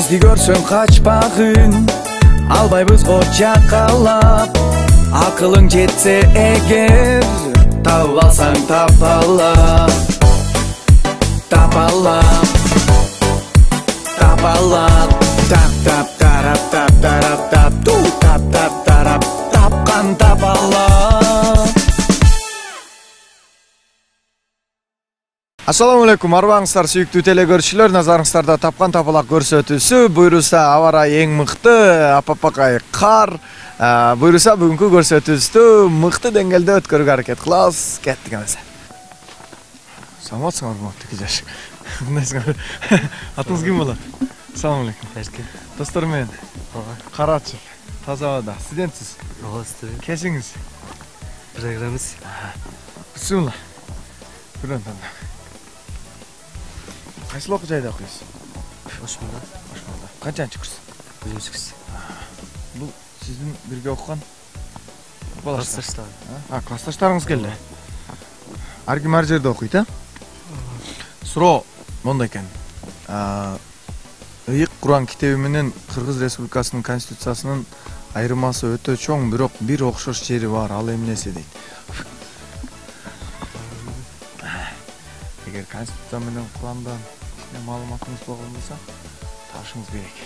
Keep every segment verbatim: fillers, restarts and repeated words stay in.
бизди көрсөң качпагын, албайбыз го жакалап. Акылың жетсе эгер, табып алсаң тапала. Тапала, тапала. Тап тап тарап тап тарап тап ту тап тап тарап тапкан тапала. Ассаламу алейкум, арбаңыздар сүйүктүү телекөрүүчүлөр. Назарыңыздарда тапкан тапалак көрсөтүүсү. Буйруса аба ырайы эң мыкты, апапакай кар. Буйруса бүгүнкү көрсөтүүбүздү мыкты деңгээлде өткөрүүгө аракет кылабыз. Кеттик эмесе. Саламатсыңарбы, урматтуу жаш. Кандайсыңар? Атыңыз ким болот? Ассаламу алейкум. Эркин. Достор менен. Кар ачып, таза абада. Студентсиз? Ооба, студент. Кесиңиз? Программист. Бисмилла. Көрөм танда. Кайсы окуу жайда окуйсуз? Ошмонда. Ошмонда. Канчанчы курс? Биринчи курс. Бул сиздин бирге окуган классташтар. А, классташтарыңыз келди. Ар ким ар жерде окуйт, а? Суроо мондай экен. Ыйык Куран китеби менен Кыргыз Республикасынын Конституциясынын айырмасы өтө чоң, бирок бир окшош жери бар. Ал эмнеси дейт? Эгер Конституция менен Курандан маалыматыңыз болгон болсо, табышыңыз керек.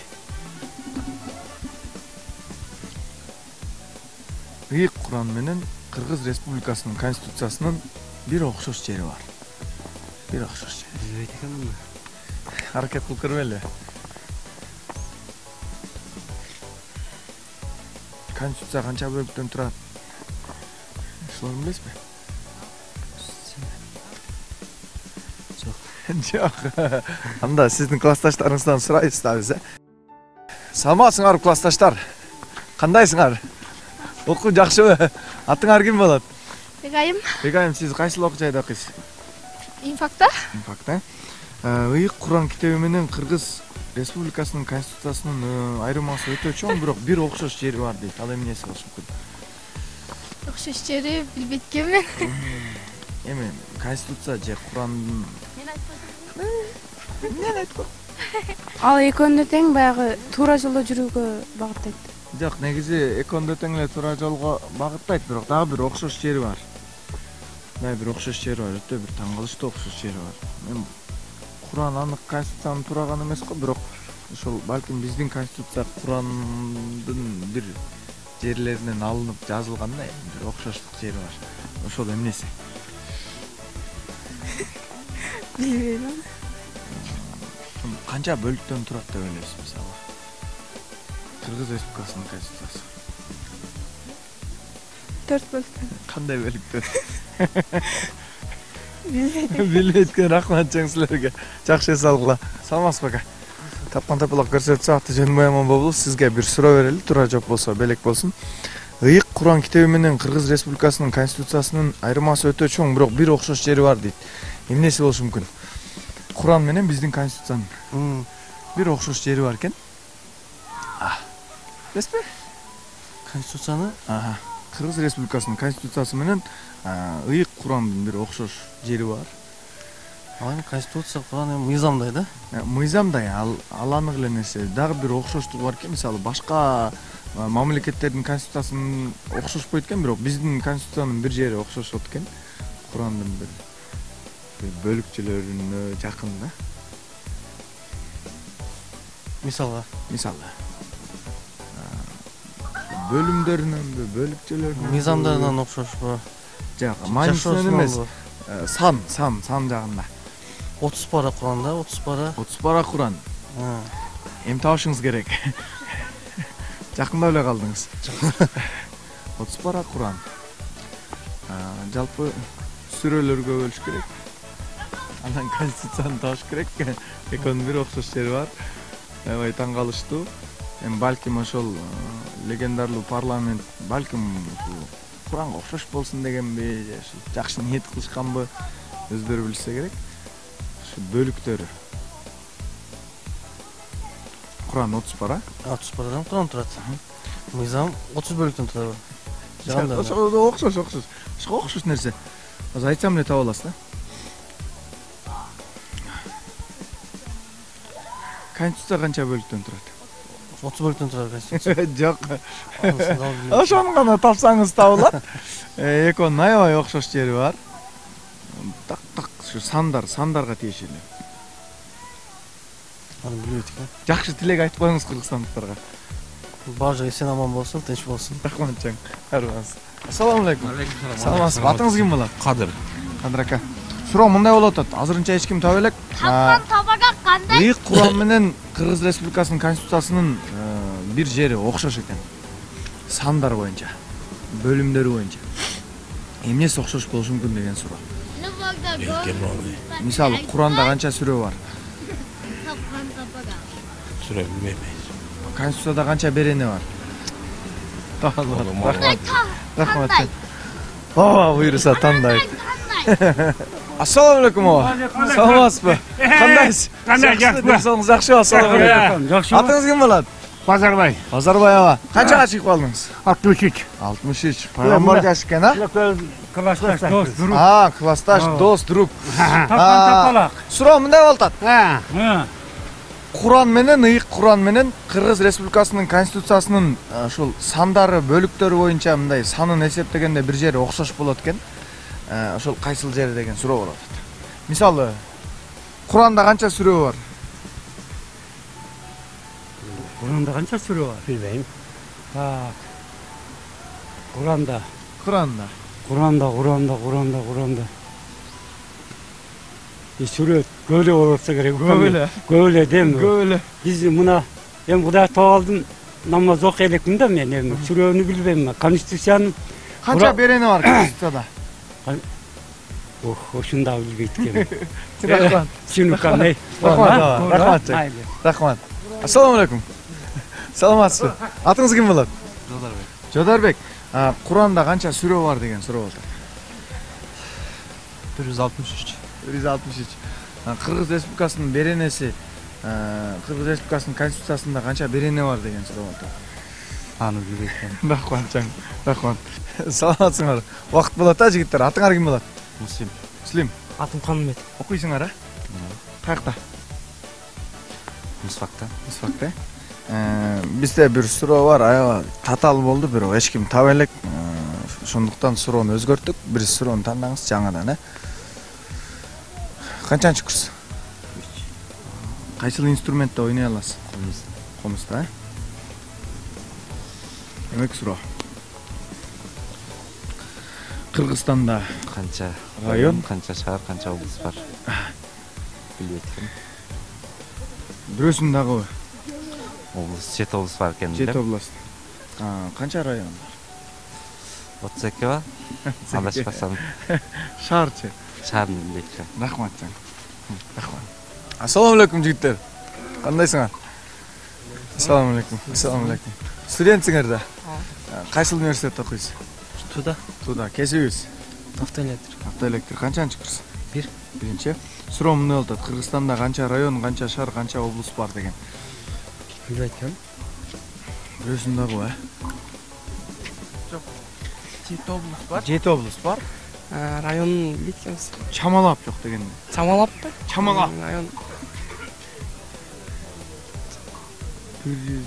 Ыйык Куран менен Кыргыз Республикасынын Конституциясынын бир окшош жери бар. Бир окшош жери. Билбейт экенмин. Аракет кылып көрбөйлү. Конституция канча бөлүктөн турат? Ошону билесизби? Жок. Анда сиздин классташтарыңыздан сурайбыз да биз. Саламатсыңарбы классташтар? Кандайсыңар? Окуу жакшыбы? Атыңар ким болот? Бегайым. Бегайым, сиз кайсыл окуу жайда окуйсуз? Инфакта. Инфакта. Ыйык Куран китеби менен Кыргыз Республикасынын Конституциясынын айырмасы өтө чоң, бирок бир окшош жери бар дейт. Ал эмнеси болушу мүмкүн? Окшош жери билбейт экенмин. Эми Конституция же Курандын Мен айтпадым. Мен айткам. Ал экөөнү тең баягы туура жолдо жүрүүгө багыттайт. Жок, негизи экөөндө тең эле туура жолго багыттайт, бирок дагы бир окшош жери бар. Дагы бир окшош жери бар, өтө бир таң калыштуу окшош жери бар. Мен Куран анык Конституциянын тураган эмес го, бирок ошол балким биздин Конституция Курандын бир жерлеринен алынып жазылганда бир окшоштук жери бар. Ошол эмнеси? Билбейм. Канча бөлүктөн турат деп ойлойсуз мисалы? Кыргыз Республикасынын Конституциясы. төрт бөлүктөн. Кандай бөлүктөр? Билбейт. Билбейт экен, рахмат чоң силерге. Жакшы эс алгыла. Саламатсызбы ака? Тапкан тапалак көрсөтсө аты жөнүм Бояман Бобулов. Сизге бир суроо берели, туура жооп болсо белек болсун. Ыйык Куран китеби менен Кыргыз Республикасынын Конституциясынын айырмасы өтө чоң, бирок бир окшош жери бар дейт. Эмнеси болушу мүмкүн? Куран менен биздин Конституциянын бир окшош жери бар экен. Билесизби? Конституцияны Кыргыз Республикасынын Конституциясы менен Ыйык Курандын бир окшош жери бар. Ал эми Конституция Куран эми мыйзамдай да? Мыйзамдай, ал аланык эле нерсе. Дагы бир окшоштугу бар экен. Мисалы, башка мамлекеттердин Конституциясынын окшошпойт экен, бирок биздин Конституциянын бир жери окшошот экен. Курандын бир бөлүкчөлөрүнө жакын да. Мисалга, мисалы бөлүмдөрүнөн, бөлүкчөлөрүнөн, мыйзамдарынан окшошпу? Жок, маанисинен эмес. Сан, сан, сан жагында. отуз пара Куранда, отуз пара. отуз пара Куран. Эми табышыңыз керек. Жакында эле калдыңыз. отуз пара Куран. Жалпы сүрөлөргө бөлүш керек. Андан Конституцияны табыш керек. Экөөнүн бир окшош жери бар. Аябай таң калыштуу. Эми балким ошол легендарлуу парламент балким Куранга окшош болсун дегенби, же жакшы ниет кылышканбы, өздөрү билсе керек. Ушу бөлүктөрү. Куран отуз пара. отуз парадан Куран турат. Мыйзам отуз бөлүктөн турат. Ошо окшош, окшош. Ошо окшош нерсе. Азыр айтсам эле таба аласыз да. Конституция канча бөлүктөн турат? отуз бөлүктөн турат конституция. Жок. Анысын да билбейм. Ошону гана тапсаңыз табылат. Экөөнүн аябай окшош жери бар. Так так ушу сандар, сандарга тиешелүү. Аны билбейт экен. Жакшы тилек айтып коюңуз кыргызстандыктарга. Баары жагы эсен аман болсун, тынч болсун. Рахмат чаң. Арбаңыз. Ассаламу алейкум. Саламатсызбы? Атыңыз ким болот? Кадыр. Кадыр ака. Суроо мындай болуп атат. Азырынча эч ким таба элек. Тапкан табага кандай? Ыйык Куран менен Кыргыз Республикасынын конституциясынын бир жери окшош экен. Сандар боюнча, бөлүмдөрү боюнча. Эмнеси окшош болушу мүмкүн деген суроо. Мисалы, Куранда канча сүрө бар? Тапкан табага. Сүрө билбейм. Конституцияда канча берене бар? Рахмат. Рахмат. Ооба, буйруса тандайт. Ассаламу алейкум ооба. Саламатсызбы? Кандайсыз? Кандай, жакшыбы? Денсаулыгыңыз жакшыбы? Ассаламу алейкум. Жакшыбы? Атыңыз ким болот? Базарбай. Базарбай аба. Канчага чыгып калдыңыз? алтымыш үч. алтымыш үч. Пайгамбар жаш экен, а? Классташ дос, друг. А, классташ, дос, друг. Тапкан тапалак. Суроо мындай болуп атат. Ha. Куран менен, ыйык Куран менен Кыргыз Республикасынын конституциясынын ушул сандары, бөлүктөрү боюнча мындай санын эсептегенде бир жери окшош болот экен. Ошол кайсыл жери деген суроо болуп атат. Мисалы, Куранда канча сүрө бар? Куранда канча сүрө бар? Билбейм. Так. Куранда, Куранда. Куранда, Куранда, Куранда, Куранда. И сүрө көөлө болса керек. Көөлө. Көөлө дем. Көөлө. Биз мына эми Кудай таап алдым, намаз окуй элекмин да мен эми сүрөнү билбейм. Конституциянын Канча берене бар конституцияда? Ох, ошун да билбейт экенмин. Рахмат. Түшүнүккан. Рахмат. Рахмат. Рахмат. Ассаламу алейкум. Саламатсызбы? Атыңыз ким болот? Жодарбек. Жодарбек. Куранда канча сүрө бар деген суроо болот. бир жүз алтымыш үч. бир жүз алтымыш үч. Кыргыз Республикасынын беренеси, Кыргыз Республикасынын конституциясында канча берене бар деген суроо болот. Аны билбейт экен. Рахмат чаң. Рахмат. Саламатсыңар. Убакыт болот а жигиттер. Атыңар ким болот? Муслим. Муслим. Атым Канымбет. Окуйсуңар а? Каякта? Мисфакта. Мисфакта. Бизде бир суроо бар, аябай татаал болду, бирок эч ким таба элек. Ошондуктан суроону өзгөрттүк. Бир суроону тандаңыз жаңадан, э? Канчанчы курс? Кайсыл инструментте ойной аласыз? Комуз. Комузда, э? Эмек суроо. Кыргызстанда Канча район, канча шаар, канча облус бар? Билбейт экен. бирөөсүн дагы Облус, жети облус бар экен. жети област. Канча район бар? отуз эки ба? Адашпасам. Шаарчы. Шаарын билбейт экен. Рахмат чаң. Рахмат. Ассаламу алейкум жигиттер. Кандайсыңар? Ассаламу алейкум. Ассаламу алейкум. Студентсиңер да? Кайсыл университетте окуйсуз? Туда. Туда. Кесибиз? Автоэлектр. Автоэлектр. Канчанчы курс? Бир. Биринчи. Суроо мындай болуп атат. Кыргызстанда канча район, канча шаар, канча облус бар деген. Билбейт экен. Бирөөсүн дагы, э? жети облус бар. жети облус бар. Район билет экенбиз. Чамалап жок дегенде. Чамалаппы? Чамалап. Район бир жүз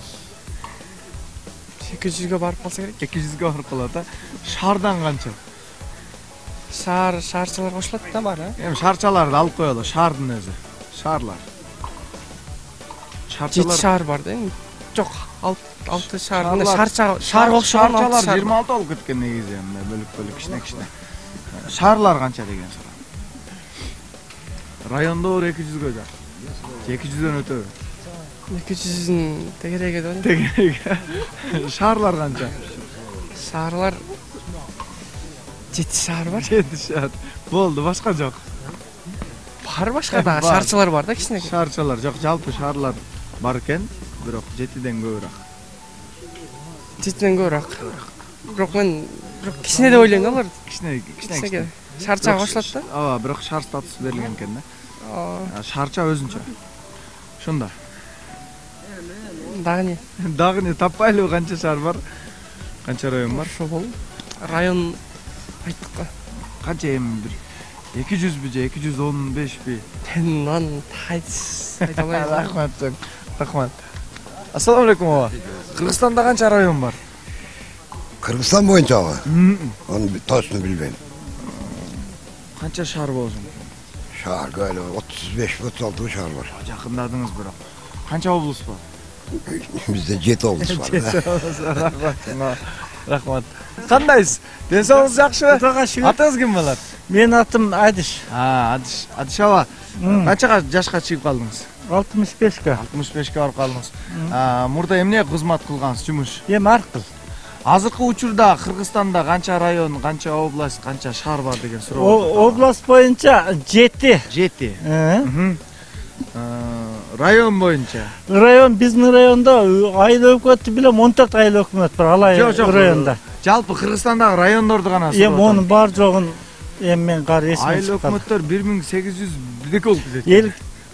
эки жүзгө барып калса керек. эки жүзгө барып калат, а? Шаардан канча? Шаар, шаарчалар кошулат да бар, а? Эми шаарчаларды алып коелу, шаардын өзү. Шаарлар. жети шаар бар да эми. Жок, алты шаар. Мына Шаарлар- шаарча, шаарга окшогон алты шаарчалар шаар. жыйырма алты болуп кеткен негизи, мындай бөлүк-бөлүк, кичине-кичине. Шаарлар канча деген суроо. Райондор эки жүзгө жак. эки жүздөн өтөбү. эки жүздүн тегереги деп. Тегереги. Шаарлар канча? Шаарлар жети шаар бар. жети шаар. Болду, башка жок. Бар башка да, Бар. шаарчалар бар да кичине. Шаарчалар жок, жалпы шаарлар бар экен, бирок жетиден көбүрөөк. жетиден көбүрөөк. Бирок мен бирок кичине деп ойлойм да алар. Кичине, кичине. Кичине. Шаарчага кошулат да. Ооба, бирок шаар статусу берилген экен да. Ооба. Шаарча өзүнчө. Ошондо. Дагы не? Дагы не таппайлыбы, канча шаар бар? Канча район бар? Ошо болду. Район айттык го. Канча эми бир эки жүзбү же эки жүз он бешпи? Мен аны айта албайм. Рахмат. Рахмат. Ассаламу алейкум ага. Кыргызстанда канча район бар? Кыргызстан боюнчабы? М, Аны точно билбейм. Канча шаар болсун? Шаар гайлы отуз беш отуз алты шаар бар. Жакындадыңыз бирок. Канча облус бар? Бизде жети облус бар. Рахмат. Рахмат. Кандайсыз? Ден соолугуңуз жакшыбы? Кудайга шүгүр. Атыңыз ким болот? Менин атым Адиш. А, Адиш. Адиш аба. Канчага жашка чыгып калдыңыз? алтымыш бешке. алтымыш бешке барып калдыңыз. А, мурда эмне кызмат кылгансыз, жумуш? Эми аркыл. Азыркы учурда Кыргызстанда канча район, канча область, канча шаар бар деген суроо. Область боюнча жети. жети. Район боюнча. Район биздин райондо айыл өкмөтү билем он төрт айыл өкмөт бар алай районда. Жалпы Кыргызстандагы райондорду гана суроо. Эми онун бар жогун эми мен кары эсиме Айыл чыккан. өкмөттөр бир миң сегиз жүз бирдеке болуп кетет. Эл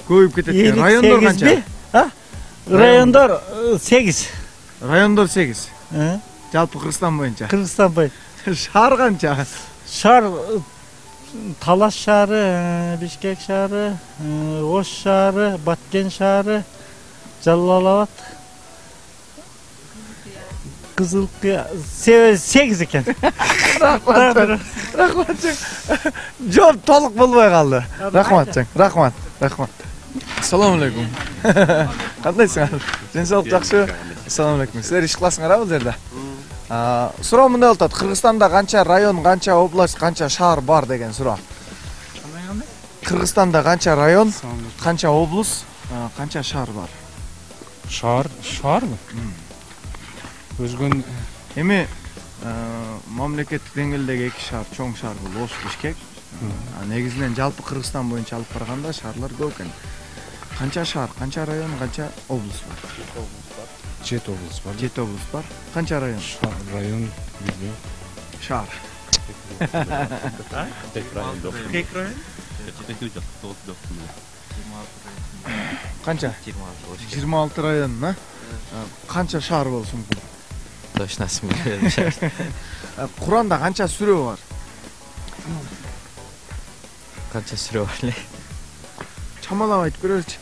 Көбүйүп кетет. экен. Райондор канча? А? Райондор сегиз. Райондор сегиз. Жалпы Кыргызстан боюнча. Кыргызстан боюнча. Шаар канча? Шаар Талас шаары, Бишкек шаары, Ош шаары, Баткен шаары, Жалал Абад, Кызылкыя сегиз экен. Рахмат. Рахмат. Жооп толук болбой калды. Рахмат. Рахмат. Рахмат. Ассаламу алейкум. Кандайсыңар? Ден соолук жакшыбы? Ассаламу алейкум. Силер иш кыласыңар бул жерде? Суроо мындай болуп атат. Кыргызстанда канча район, канча область, канча шаар бар деген суроо. Кыргызстанда канча район, канча область, канча шаар бар? Шаар, шаарбы? Өзгөн Эми мамлекеттик деңгээлдеги эки шаар, чоң шаар бул Ош, Бишкек. Негизинен жалпы Кыргызстан боюнча алып караганда шаарлар көп экен. Канча шаар, канча район, канча область бар? жети область бар. жети область бар. Канча район? Район билбейм. Шаар. Канча? жыйырма алты район, а? Канча шаар болушу мүмкүн? Точносын билбейм. Куранда канча сүрө бар? Канча сүрө бар эле? Чамалап айтып көрөлүчү.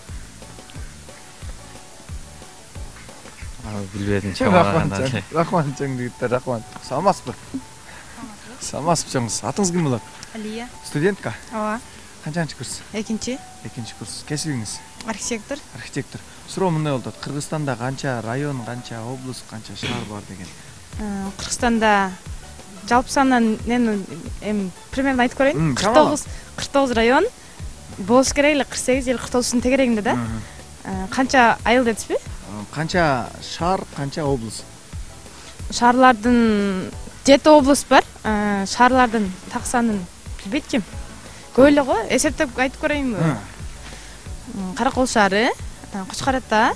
Билбедим, чамалагандан эле. Рахмат чоң жигиттер, рахмат. Саламатсызбы? Саламатсызбы чоңуз. Атыңыз ким болот? Алия. Студентка? Ооба. Канчанчы курс? Экинчи. Экинчи курс. Кесибиңиз? Архитектор. Архитектор. Суроо мындай болуп атат. Кыргызстанда канча район, канча область, канча шаар бар деген. Кыргызстанда жалпы санынан мен эми примерно айтып көрөйүн. кырк тогуз кырк тогуз район болуш керек эле, кырк сегиз же кырк тогуздун тегерегинде да. Канча айыл дедизби? Канча шаар, канча область? Шаарлардын жети область бар. Шаарлардын так санын билбейт ким. Көп эле го, эсептеп айтып көрөйүнбү? Каракол шаары, Кочкор Ата,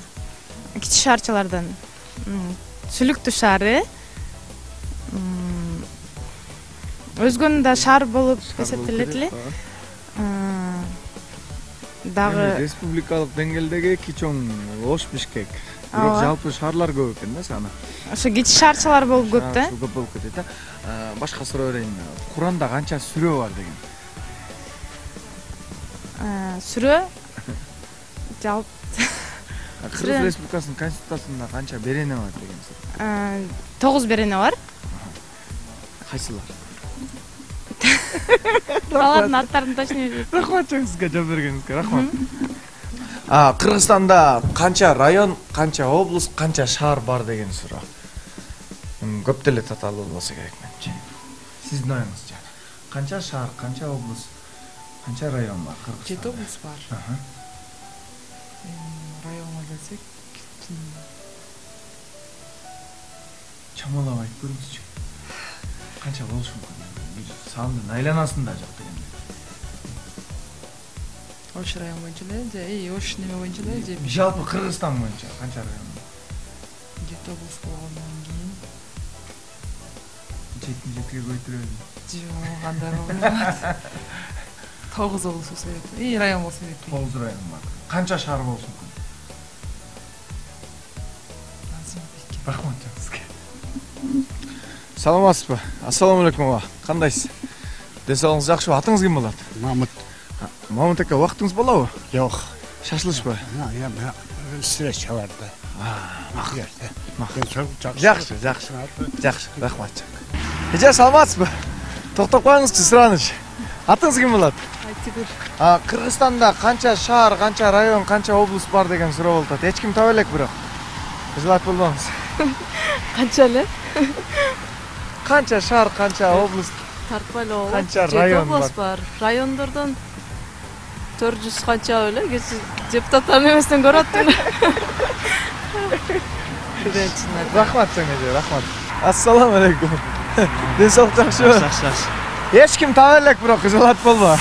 кичи шаарчалардан Сүлүктүү шаары, өзгөнү да шаар болуп эсептелет эле. Дагы республикалык деңгээлдеги эки чоң Ош, Бишкек. Бирок жалпы шаарлар көп экен да саны. Ошо кичи шаарчалар болуп көп да. Көп болуп кетет да. Башка суроо берейин. Куранда канча сүрө бар деген? Сүрө жалпы Кыргыз Республикасынын конституциясында канча берене бар деген суроо. тогуз берене бар. Кайсылар? Алардын аттарын точно билбейм. Рахмат сизге жооп бергениңизге, рахмат. А, Кыргызстанда канча район, канча область, канча шаар бар деген суроо. Көп деле татаалуу болсо керек менчи. Сиздин оюңузча. Канча шаар, канча область, канча район бар Кыргызстанда? жети область бар. Районго келсек, чамалап айтып көрүңүзчү. Канча болушу мүмкүн? Сандын айланасында жок деген. Ош район боюнча эле же, и Ош неме боюнча эле же. Жалпы Кыргызстан боюнча канча район? жети область болгондон кийин. жети жетиге көйтүрөлү. Жок, андай болбойт. тогуз область болсо керек. И район болсо керек. тогуз район бар. Канча шаар болушу мүмкүн? Рахмат сизге. Саламатсызбы? Ассаламу алейкум ага. Кандайсыз? Ден соолугуңуз жакшыбы? Атыңыз ким болот? Мамыт. Мамыт ака, убактыңыз болобу? Жок. Шашлычпы? встречаларда. Жакшы, жакшы. Жакшы, рахмат. Эже саламатсызбы? Токтоп коюңузчу, сураныч. Атыңыз ким болот? Айтигүл. А, Кыргызстанда канча шаар, канча район, канча область бар деген суроо болуп атат. Эч ким таба элек бирок. Кызылат болбоңуз. Канча эле? Канча шаар, канча область, Тартпай эле болот. канча район бар? бар. Райондордон төрт жүз канча эле, кечи депутаттар эместен көрөт эле. Рахмат сеңе, рахмат. Ассаламу алейкум. Ден соолук жакшыбы? Жакшы, жакшы. Эч ким таба элек бирок кызылат болбо.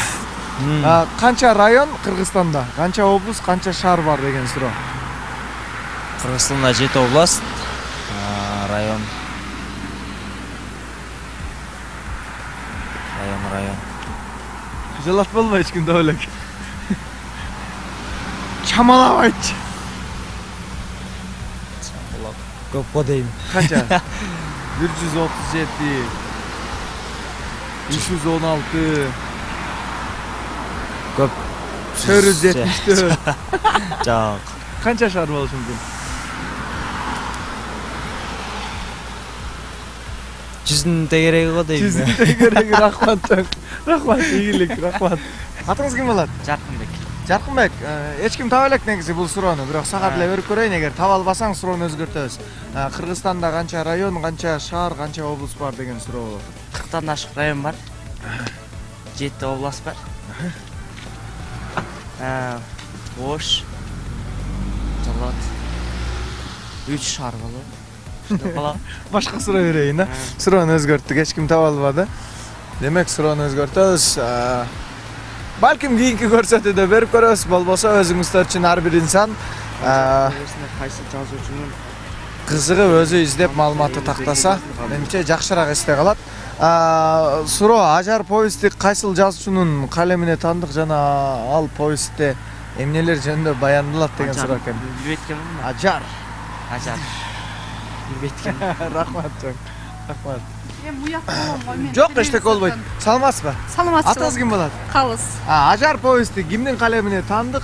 А, канча район Кыргызстанда, канча область, канча шаар бар деген суроо. Кыргызстанда жети область, район. Район, район. Кызылат болбо эч ким таба элек. Чамалап айтчы. Көп го дейм. Канча? бир жүз отуз жети, үч жүз он алты, Көп. төрт жүз жетимиш төрт. Жак. Канча шаар болушу мүмкүн? Жүздүн тегереги го дейм. Жүздүн тегереги, рахмат. Рахмат, ийгилик, рахмат. Атыңыз ким болот? Жаркынбек. Жаркынбек, эч ким таба элек негизи бул суроону, бирок сага деле берип көрөйүн, эгер таба албасаң суроону өзгөртөбүз. Кыргызстанда канча район, канча шаар, канча область бар деген суроо болот. кырктан ашык район бар. жети область бар. Ош, Жалат, үч шаар болот. Башка суроо берейин да. Суроону өзгөрттүк, эч ким таба албады. Демек суроону өзгөртөбүз. Балким кийинки көрсөтүүдө берип көрөбүз, болбосо өзүңүздөр үчүн ар бир инсан Кайсы жазуучунун кызыгып өзү издеп маалыматты тактаса, менимче жакшыраак эсте калат. Суроо, Ажар повести кайсыл жазуучунун калемине тандык жана ал повестте эмнелер жөнүндө баяндалат деген суроо экен. билбейт экенмин. Ажар. Ажар. Билбейт экенмин. Рахмат чоң. Рахмат. Эми уякта болом го мен. Жок, эчтеке болбойт. Саламатсызбы? Саламатсыз. Атыңыз ким болот? Калыс. Ажар повести кимдин калемине тандык?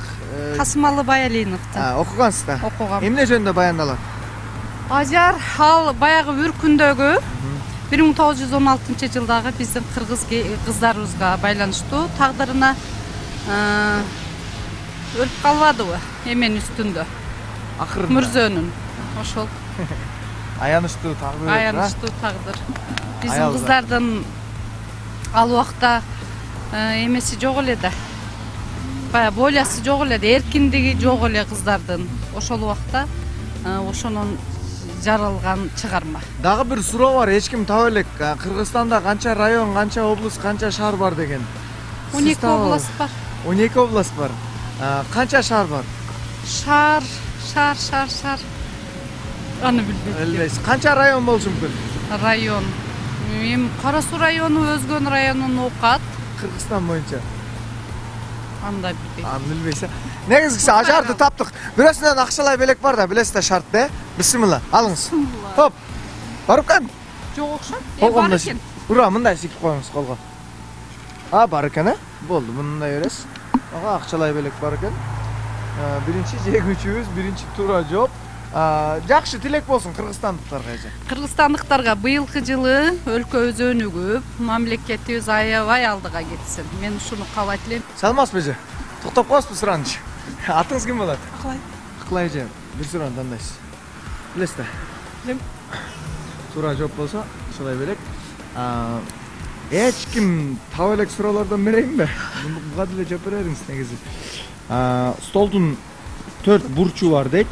Касымалы Баялиновдун. Окугансыз да? Окугам. Эмне жөнүндө баяндалат? Ажар ал баягы Үркүндөгү бир миң тогуз жүз он алтынчы жылдагы биздин кыргыз кыздарыбызга байланыштуу тагдырына өлүп калбадыбы эмен үстүндө. Акырында. Мүрзөнүн. Ошол. Аянычтуу тагдыр. Аянычтуу тагдыр. Биздин кыздардын ал убакта эмеси жок эле да. Бая болясы жок эле, эркиндиги жок эле кыздардын. Ошол убакта ошонун жаралган чыгарма. Дагы бир суроо бар, эч ким таба элек. Кыргызстанда канча район, канча область, канча шаар бар деген. он эки область бар. он эки область бар. Канча шаар бар? Шаар, шаар, шаар, шаар. Аны билбейм. Билбейсиз. Канча район болушу мүмкүн? Район. Эми Кара Суу району Өзгөн районун окат. Кыргызстан боюнча. Анда билбейм. Аны билбейсиз. Негизгиси Ажарды таптык. Бирөөсүнөн акчалай белек бар да, билесиз шартты. Бисмилла, алыңыз. Хоп. Барып кан? Жок окшойт. Кол бар экен. Ура, мындай сикип коюңуз колго. А, бар экен, э? Болду, мындай бересиз. Ага, акчалай белек бар экен. Биринчи жегүүчүбүз, биринчи туура жооп. Жакшы тилек болсун кыргызстандыктарга эже. Кыргызстандыктарга быйылкы жылы өлкөбүз өнүгүп, мамлекетибиз аябай алдыга кетсин. Мен ушуну каалайт элем. Саламатсызбы эже? Токтоп коесузбу сураныч? Атыңыз ким болот? Акылай. Акылай эже, бир суроону тандайсыз. Билесиз да? Билем. Туура жооп болсо, ушулай белек. Эч ким таба элек суроолордон берейинби? Буга деле жооп берериңиз негизи. Столдун төрт бурчу бар дейт.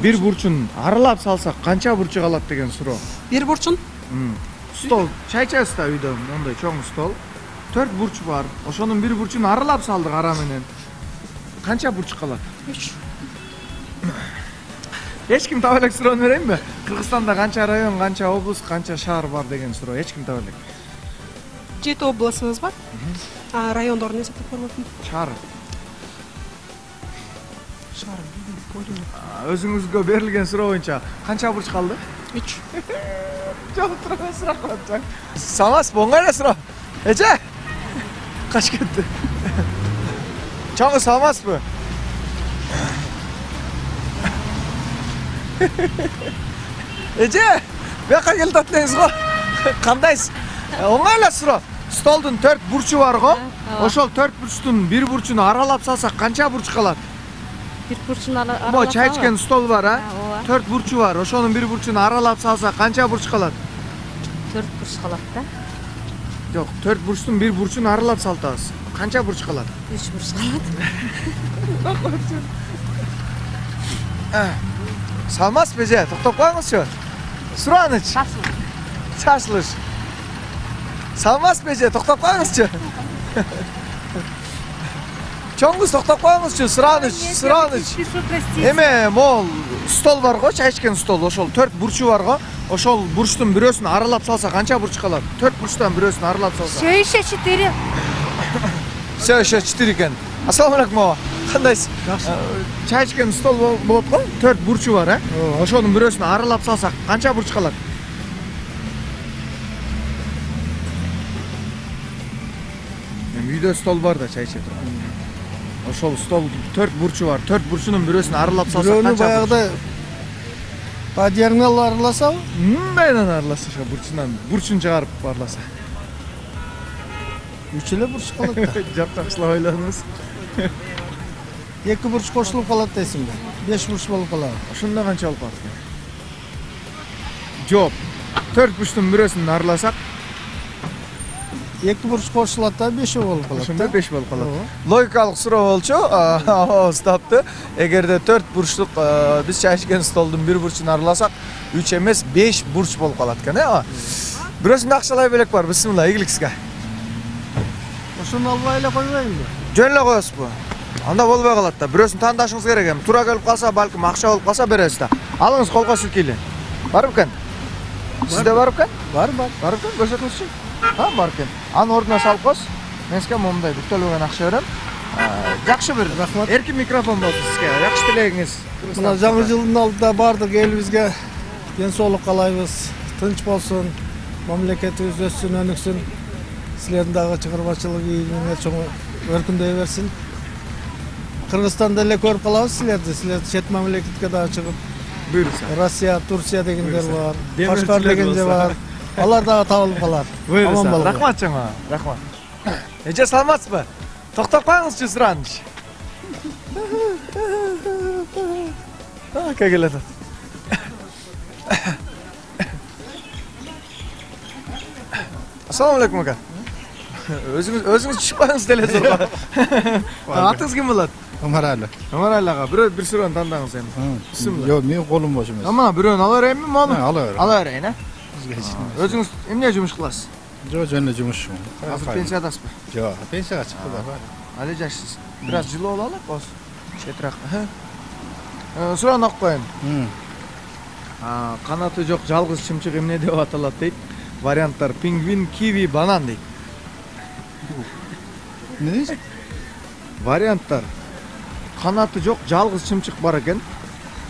Бир бурчун аралап салсак канча бурчу калат деген суроо. Бир бурчун? Стол, чай ичесиз да үйдө, мондой чоң стол. төрт бурч бар. Ошонун бир бурчун аралап салдык ара менен. Канча бурч калат? үч. Эч ким таба элек суроону берейинби? Кыргызстанда канча район, канча область, канча шаар бар деген суроо. Эч ким таба элек. жети областыбыз бар. А райондорун эсептеп көрбөпмүн. Шаар. Шаар. Өзүңүзгө берилген суроо боюнча канча бурч калды? үч. Жок, тура эмес рахмат. Саламатсызбы? Оңой эле суроо. Эже? Качып кетти. Чоң саламатсызбы? Эже, бияка келип атпаңыз го. Кандайсыз? Оңой эле суроо. Столдун төрт бурчу бар го. Ошол төрт бурчтун бир бурчуну аралап салсак канча бурч калат? Бир бурчун аралап. Бо чай ичкен стол бар, а? төрт бурчу бар. Ошонун бир бурчуну аралап салсак канча бурч калат? төрт бурч калат да. Жок, төрт бурчтун бир бурчуну аралап салтабыз. Канча бурч калат? үч бурч калат. Салмас беже, токтоп коюңузчу. Сураныч. Шашлыш. Салмас беже, токтоп коюңузчу. Чоңгуз токтоп коюңузчу, сураныч, сураныч. Эме, могул стол бар го, чай ичкен стол, ошол төрт бурчу бар го. Ошол бурчтун бирөөсүн аралап салса канча бурч калат? төрт бурчтан бирөөсүн аралап салса. Все еще четыре. Все еще четыре экен. Ассаламу алейкум ага. Кандайсыз? Чай ичкен стол болот го, төрт бурчу бар, э? Ошонун бирөөсүн аралап салсак канча бурч калат? Мен үйдө стол бар да чай ичет турган. Ошол стол төрт бурчу бар, төрт бурчунун бирөөсүн аралап салсак канча? Бирөөнү баягыда падьярыңал араласабы? Мындайдан араласа, ошо бурчунан, бурчун чыгарып араласа. Үч эле бурч калат да. Жак жакшылап ойлонуңуз. эки бурч кошулуп калат дейсиңби? беш бурч болуп калат. Ошондо канча болуп калат экен? Жооп. төрт бурчтун бирөөсүн араласак эки бурч кошулат да, беш болуп калат. Ошондо беш болуп калат. Логикалык суроо болчу. Ооба, таптı. Эгерде төрт бурчтук биз чай ичкен столдун бир бурчун араласак, үч эмес беш бурч болуп калат экен, э? Бирөөсүндө акчалай белек бар. Бисмилла, ийгилик сизге. Ошону албай эле койбойбузбу? Жөн эле коесузбу? Анда болбой калат да. Бирөөсүн тандашыңыз керек эми. Туура келип калса, балким акча болуп калса бересиз да. Алыңыз колго силкейли. Бар бекен? Сизде бар бекен? Бар, бар. Бар бекен? Көрсөтүңүзчү. Ha, бар экен. Аны ордуна салып коюңуз. Мен сизге момундай бүктөлбөгөн акча берем. Жакшы бир. Рахмат. Эркин микрофон болсун сизге. Жакшы тилегиңиз. Мына жаңы жылдын алдында бардык элибизге ден соолук каалайбыз. Тынч болсун. Мамлекетибиз өссүн, өнүксүн. Силердин дагы чыгармачылык ийгиңер чоң өркүндөй берсин. Кыргызстанда эле көрүп калабыз силерди. Силер чет мамлекетке дагы чыгып, буйрса. Россия, Турция дегендер бар. Кашкар дегендер бар. Алар дагы табылып калар. Аман болгула. Рахмат чоңа. Рахмат. Эже саламатсызбы? Токтоп коюңузчу сураныч. А, кегел атат. Ассаламу алейкум ака. Өзүңүз өзүңүз түшүп коюңуз телевизорго. Атыңыз ким болот? Омаралы. Омаралы ага, бирөө бир суроону тандаңыз эми. Бисмилла. Жок, мен колум бош эмес. Ама бирөөнү ала берейинби, мону? Ала бер. Ала берейин, э? Өзүңүз эмне жумуш кыласыз? Жок, жөн эле жумушчумун. Азыр пенсиядасызбы? Жок, пенсияга чыкты да. Али жашсыз. Бир аз жылуу бололу, болсун. Четирак. Суроону окуп коеюн. А, канаты жок жалгыз чымчык эмне деп аталат дейт? Варианттар: пингвин, киви, банан дейт. Не дейсиң? Варианттар: канаты жок жалгыз чымчык бар экен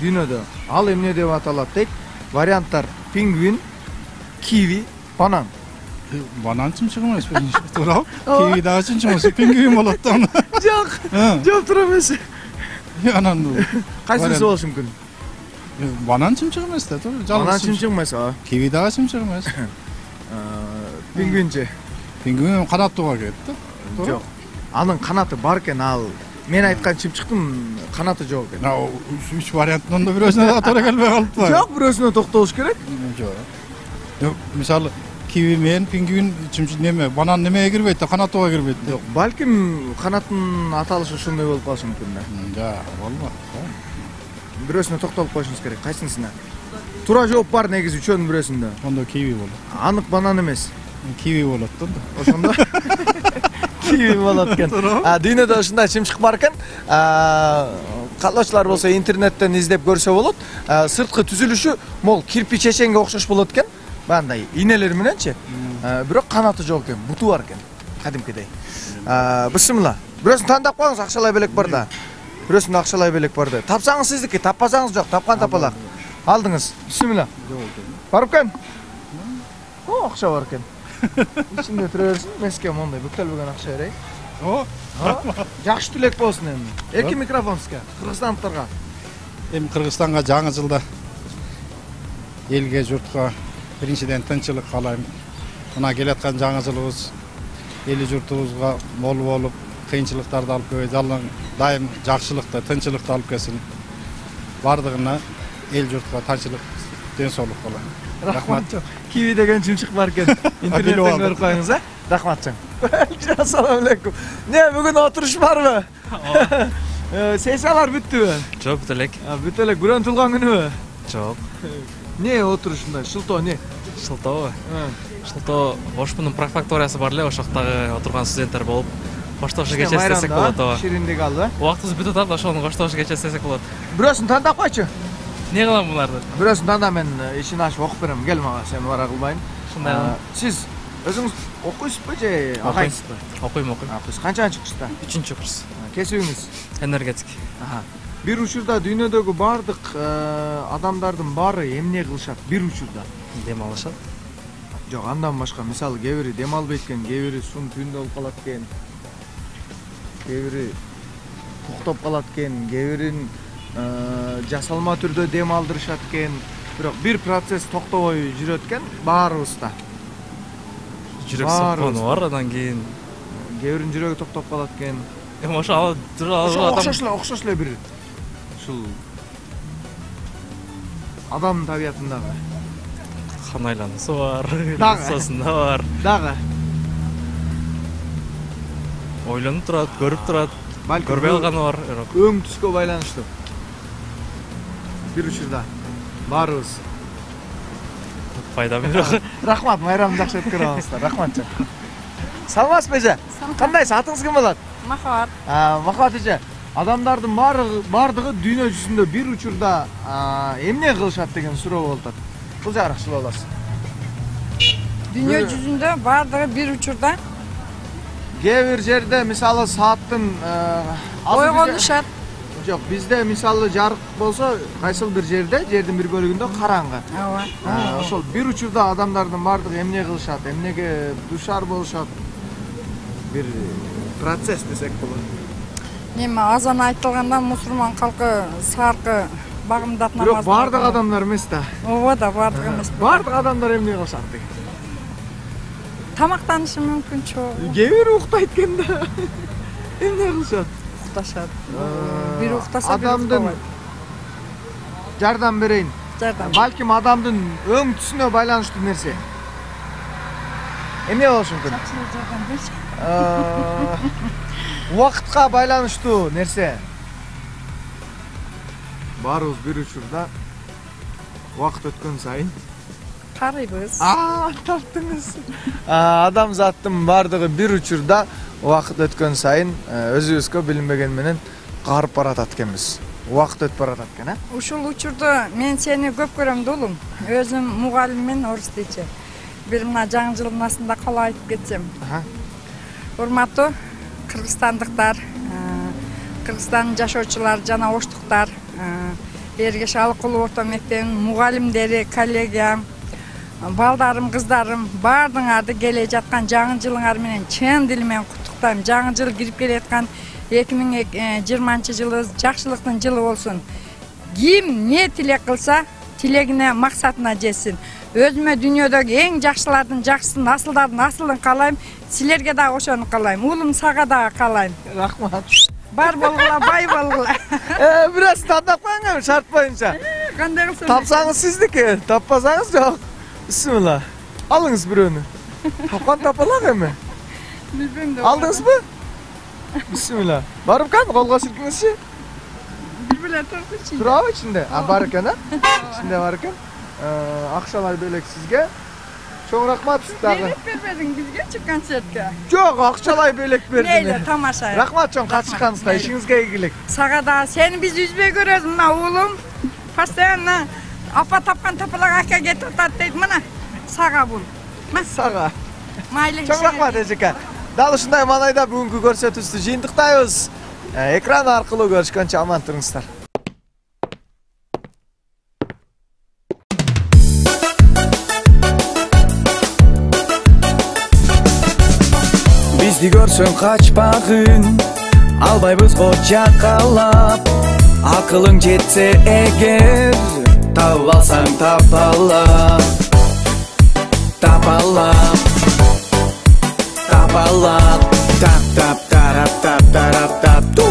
дүйнөдө. Ал эмне деп аталат дейт? Варианттар: пингвин, киви, банан. Банан чымчык эмеспи? Туурабы? Киви дагы чымчык эмес, пингвин болот да. Жок. Жок туура эмес. Анан кайсысы болушу мүмкүн? Банан чымчык эмес да, туура. Банан чымчык эмес, а. Киви дагы чымчык эмес. Пингвинчи. Пингвин канаттууга кирет да. Жок. Анын канаты бар экен, ал мен айткан чымчыктын канаты жок экен. Үч варианттын да бирөөсүнө туура келбей калыппы. Жок, бирөөсүнө токтолуш керек. Жок. Мисалы киви менен пингвин чымчык неме, банан немеге кирбейт да, канаттууга кирбейт. Жок, балким канаттын аталышы ошондой болуп калышы мүмкүн да. Жок, болбойт. Бирөөсүнө токтолуп коюшуңуз керек. Кайсынысына? Туура жооп бар негизи үчөөнүн бирөөсүндө. Ондо киви болот. Анык банан эмес. Киви болот да. Ошондо киви болот экен. А дүйнөдө ушундай чымчык бар экен. Каалоочулар болсо интернеттен издеп көрсө болот. Сырткы түзүлүшү могул кирпич чеченге окшош болот экен. Бандай инелер мененчи. Бирок канаты жок экен, буту бар экен. Кадимкидей. Бисмилла. Бирөөсүн тандап коюңуз, акчалай белек бар да. Бирөөсүндө акчалай белек бар да. Тапсаңыз сиздики, таппасаңыз жок, тапкан тапалак. Алдыңыз. Бисмилла. Бар экен? О, акча бар экен. Ичинде тура берсин, мен сизге мондай бүктөлбөгөн акча берейин. О, жакшы тилек болсун эми. Эркин микрофон сизге, кыргызстандыктарга. Эми Кыргызстанга жаңы жылда элге журтка биринчиден тынчылык каалайм. Мына келаткан жаңы жылыбыз эли журтубузга мол болуп, кыйынчылыктарды алып келбей, дайым жакшылыкты, тынчылыкты алып келсин. Бардыгына эл журтка тынчылык, ден соолук каалайм. Рахмат. Киви деген чымчык бар экен. Интернеттен көрүп коюңуз, а? Рахмат чоң. Ассаламу алейкум. Не, бүгүн отуруш барбы? Сессиялар бүттүбү? Жок, бүт элек. Бүт элек. Бүрөн тулган күнүбү? Жок. Не отурушунда? Шылтоо не? Шылтообу? Шылтоо Ошмунун префектурасы бар эле, ошоктогу отурган студенттер болуп, коштошуу кече эстесек болот, ооба. Шириндик алды. Убактыбыз бүтүп атат, ошону коштошуу кече эстесек болот. Бирөөсүн тандап койчу. Не кылам буларды? Бирөөсүн танда, мен ишин ачып окуп берем. Кел мага, сен бара кылбайын. Ушундай. Сиз өзүңүз окуйсузбу же агайсызбы? Окуйм, окуйм. Окуйсуз. Канчанчы курста? үчүнчү курс. Кесибиңиз? Энергетик. Бир учурда дүйнөдөгү бардык адамдардын баары эмне кылышат? Бир учурда дем алышат. Жок, андан башка, мисалы, кээ бири дем албайт экен, кээ бири сун түндө болуп калат экен, кээ бири токтоп калат экен, кээ бирин жасалма түрдө дем алдырышат экен. Бирок бир процесс токтобой жүрөт экен баарыбызда. Жүрөк соккону бар, андан кийин кээ биринин жүрөгү токтоп калат экен. Эми ошо ал адам окшош эле, окшош эле бир ушул адамдын табиятындагы кан айлануусу бар, дагы сосунда бар. Дагы ойлонуп турат, көрүп турат, көрбөй калганы бар. Өң түскө байланыштуу. Бир учурда баарыбыз пайдам жок. Рахмат, майрамды жакшы өткөрүп алыңыздар. Рахмат жок. Саламатсызбы эже? Кандайсыз? Атыңыз ким болот? Махабат. Махабат эже, адамдардын бардыгы дүйнө жүзүндө бир учурда эмне кылышат деген суроо болуп атат. Бул жагыракчылап аласыз. Дүйнө жүзүндө бардыгы бир учурда кээ бир жерде мисалы сааттын ойгонушат. Жок, бизде мисалы жарык болсо, кайсыл бир жерде, жердин бир бөлүгүндө караңгы. Ооба. Ошол бир учурда адамдардын бардыгы эмне кылышат, эмнеге душар болушат? Бир процесс десек болот. Эми азан айтылганда мусулман халкы саркы багымдап намаз. Бирок бардык адамдар эмес да. Ооба да, бардык эмес. Бардык адамдар эмне кылышат деген? Тамактанышы мүмкүн чоң. Кээ бири уктайт экен да. Эмне кылышат? Укташат. Бир уктаса бир адамдын жардам берейин. Жардам. Балким адамдын өң түсүнө байланыштуу нерсе. Эмне болушу мүмкүн? Жардам берчи. Убакытка байланыштуу нерсе. Баарыбыз бир учурда убакыт өткөн сайын карыйбыз. А, таптыңыз. Адамзаттын бардыгы бир учурда убакыт өткөн сайын өзүбүзгө билинбеген менен карып баратат экенбиз. Убакыт өтүп баратат экен, а? Ушул учурда мен сени көп көрөм да улум. Өзүм мугалиммен орус тийчи. Бир мына жаңы жылдын асында кала айтып кетсем. Урматтуу кыргызстандыктар, Кыргызстандын жашоочулары жана оштуктар, Эргеш Алыкулов орто мектебинин мугалимдери, коллегиям, балдарым, кыздарым, баардыгыңарды келе жаткан жаңы жылыңар менен чын дил менен куттуктайм. Жаңы жыл кирип келе жаткан эки миң жыйырманчы жылы жакшылыктын жылы болсун. Ким не тилек кылса, тилегине, максатына жетсин. Өзүмө дүйнөдөгү эң жакшылардын жакшысын, асылдардын асылын каалайм. Силерге дагы ошону каалайм. Улум сага дагы каалайм. Рахмат. Бар болгула, бай болгула. Э, бирөөсүн тандап коюңар, шарт боюнча. Кандай кылсам? Тапсаңыз сиздики, таппасаңыз жок. Бисмилла. Алыңыз бирөөнү. Тапкан тапалак эми. Билбейм да. Алдыңызбы? Бисмилла. Барып кан, колго силкиңизчи. Бир беле турчу. Турабы ичинде? А, бар экен, а? Ичинде бар экен. Акчалар бөлөк сизге. Чоң рахмат дагы. Билет бербедиң бизгечи концертке? Жок, акчалай бөлөк бердим. Мейли, тамаша. Рахмат чоң катышканыңызга, ишиңизге ийгилик. Сага да сени биз үзбөй көрөбүз, мына уулум. Постоянно апа тапкан тапалак ака кетип атат дейт, мына. Сага бул. Сага. Майлы. Чоң рахмат эжеке. Дал ушундай маанайда бүгүнкү көрсөтүүбүздү жыйынтыктайбыз. Экран аркылуу көрүшкөнчө аман туруңуздар. Бизди көрсөң качпагын, албайбыз го жакалап. Ак акылың жетсе эгер, тауып алсаң тапала, тапала, тапала, тап тап тарап тап тарап тап.